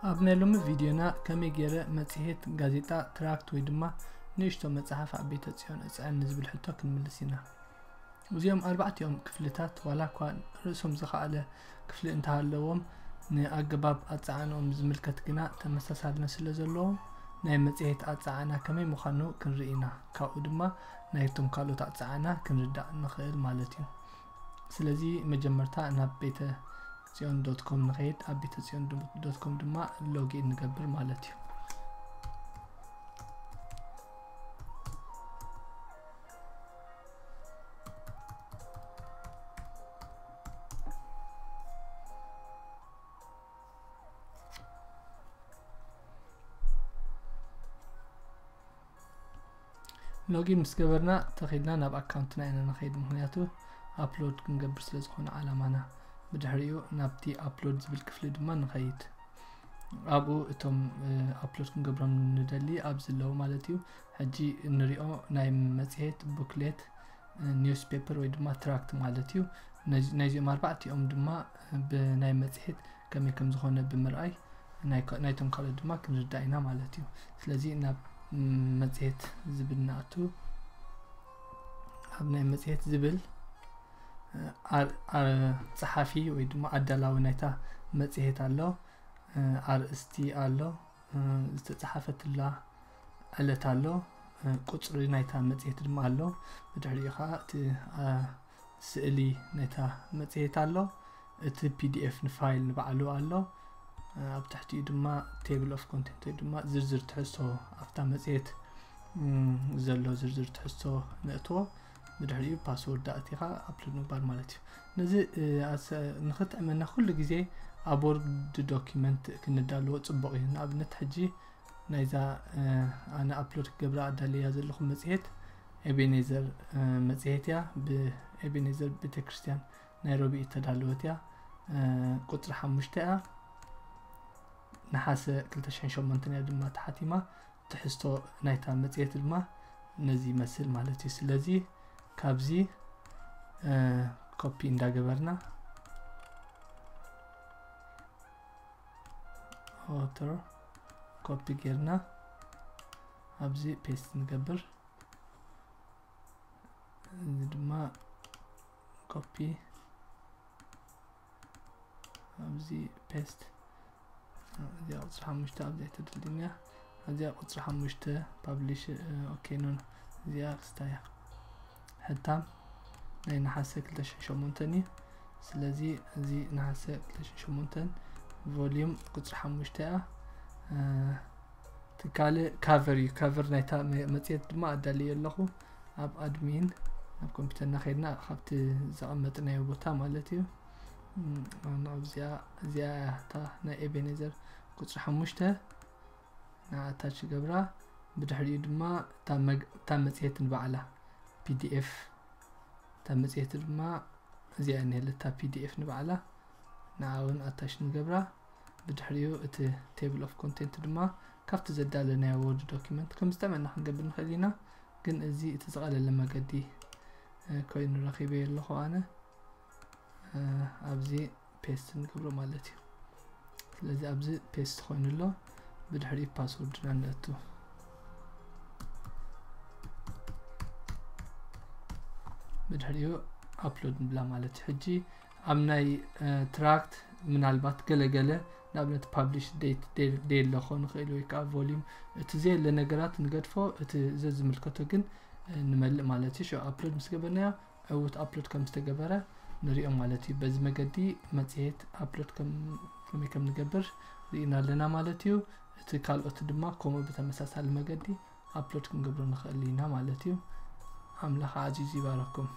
ኣብ ናይ ሎሚ ቪድዮና ከመይ ገይረ መጽሔት፣ ጋዜጣ፣ ትራክት ወይ ድማ ንእሽቶ መጽሓፍ ኣብ ቤተ ጽዮን እጽዕን ንዝብል ሕቶ ክንምልስ ኢና። እዚኦም ኣርባዕቲኦም ክፍልታት ዋላ እኳ ርእሶም ዝኸኣለ ክፍሊ እንተሃለዎም፣ ንኣገባብ ኣጻዕንኦም ዝምልከት ግና ተመሳሳልነት ስለ ዘለዎም ናይ መጽሔት ኣጻዕና ከመይ ምዃኑ ክንርኢ ኢና። ካብኡ ድማ ናይቶም ካልኦት ኣጻዕና ክንርዳእ ንኽእል ማለት እዩ። ስለዚ መጀመርታ ናብ ቤተ ጽዮን ዶት ኮም ንኸይድ። ኣብ ቤተ ጽዮን ዶት ኮም ድማ ሎጊን ንገብር ማለት እዩ። ሎጊን ምስ ገበርና ተኺልና ናብ ኣካውንትና ኢና ንኸይድ፣ ምኽንያቱ ኣፕሎድ ክንገብር ስለ ዝኾነ ዓላማና። ብድሕሪኡ ናብቲ ኣፕሎድ ዝብል ክፍሊ ድማ ንኸይድ። ኣብኡ እቶም ኣፕሎድ ክንገብሮም ንደሊ ኣብዚ ኣለዉ ማለት እዩ። ሕጂ እንሪኦ ናይ መጽሔት፣ ቡክሌት፣ ኒውስፔፐር ወይ ድማ ትራክት ማለት እዩ። ነዚ- ናይዚኦም ኣርባዕቲኦም ድማ ብናይ መጽሔት ከመይ ከም ዝኾነ ብምርኣይ ናይ- ናይቶም ካልኦት ድማ ክንርዳእ ኢና ማለት እዩ። ስለዚ ናብ መጽሔት ዝብል ንኣቱ። ኣብ ናይ መጽሔት ዝብል ኣር- ኣር- ጸሓፊ ወይ ድማ ኣዳላዊ ናይታ መጽሔት ኣሎ። ኣርእስቲ ኣሎ፣ ዝተጻሓፈትላ ዕለት ኣሎ፣ ቁጽሪ ናይታ መጽሔት ድማ ኣሎ። ብድሕሪኡ ኸኣ እቲ ስእሊ ናይታ መጽሔት ኣሎ። እቲ ፒዲኤፍ ንፋይል ንባዕሉ ኣሎ። ኣብ ትሕቲኡ ድማ ቴብል ኦፍ ኮንቴንት ወይ ድማ ዝርዝር ትሕዝቶ ኣብታ መጽሔት ዘሎ ዝርዝር ትሕዝቶ ነእትዎ። ብድሕሪኡ ፓስወርድ ኣእቲኻ ኣፕሎድ ምግባር ማለት እዩ። ነዚ ንኽጥዕመና ኩሉ ግዜ ኣብ ወርድ ዶኪመንት ክንዳለዎ ጽቡቕ እዩ። ንኣብነት ሕጂ ናይዛ ኣነ ኣፕሎድ ክገብራ ኣዳለያ ዘለኹ መጽሔት ኤቤኔዘር መጽሔት እያ። ብኤቤኔዘር ቤተክርስትያን ናይሮቢ እተዳለወት እያ። ቁጽሪ ሓሙሽተ እያ። ነሓሰ ክልተ ሽሕን ሸሞንተን እያ ድማ ተሓቲማ። ትሕዝቶ ናይታ መጽሔት ድማ ነዚ ይመስል ማለት እዩ። ስለዚ ካብዚ ኮፒ እንዳገበርና ኦተር ኮፒ ጌርና ኣብዚ ፔስት ንገብር። እዚ ድማ ኮፒ ኣብዚ ፔስት። እዚኣ ቁጽሪ ሓሙሽተ ኣብዚ ኣይተደልድልንያ። እዚኣ ቁጽሪ ሓሙሽተ ፓብሊሽ ኦኬ ኖ። እዚኣ ክስታያ ሕታም ናይ ነሓሰ ክልተ ሽሕን ሸሞንተን እዩ። ስለዚ እዚ ነሓሰ ክልተ ሽሕን ሸሞንተን ቮሊዩም ቁጽሪ ሓሙሽተ እያ። ትካል ካቨር እዩ። ካቨር ናይታ መጽሔት ድማ ኣዳልየ ኣለኹ። ኣብ ኣድሚን ናብ ኮምፒውተርና ከይድና ካብቲ ዘቐመጥናዮ ቦታ ማለት እዩ። ኣብዚኣ እዚኣ እታ ናይ ኤቤኔዘር ቁጽሪ ሓሙሽተ ንኣታች ገብራ። ብድሕሪኡ ድማ እታ መጽሔት ንባዕላ ፒዲኤፍ እታ መጽሔት ድማ እዚኣ እኒሀለታ ፒዲኤፍ ንባዕላ ንዓውን ኣታች ንገብራ። ብድሕሪኡ እቲ ቴብል ኦፍ ኮንቴንት ድማ ካብቲ ዘዳለናዮ ወርድ ዶኪመንት ከም ዝጠመና ክንገብር ንኽእል ኢና። ግን እዚ እቲ ዝቐለለ መገዲ ኮይኑ ረኺበዮ ኣለኹ ኣነ። ኣብዚ ፔስት ንገብሮ ማለት እዩ። ስለዚ ኣብዚ ፔስት ኮይኑ ኣሎ። ብድሕሪኡ ፓስወርድና ነእቱ። ብድሕሪኡ ኣፕሎድ ንብላ ማለት እዩ። ሕጂ ኣብ ናይ ትራክት ምናልባት ገለገለ ንኣብነት ፓብሊሽ ዴት ደየለ ክኾን ይኽእል ወይ ከዓ ቮሊዩም፣ እቲ ዘየለ ነገራት ንገድፎ፣ እቲ ዘዝምልከቶ ግን ንመልእ ማለት እዩ። ሸው ኣፕሎድ ምስ ገበርናዮ ዕውት ኣፕሎድ ከም ዝተገበረ ንሪኦ ማለት እዩ። በዚ መገዲ መጽሔት ኣፕሎድ ከመይ ከም ንገብር ርኢና ኣለና ማለት እዩ። እቲ ካልኦት ድማ ከምኡ ብተመሳሳሊ መገዲ ኣፕሎድ ክንገብሮ ንኽእል ኢና ማለት እዩ። ኣምላኽ ዓዚዙ ይባረኩም።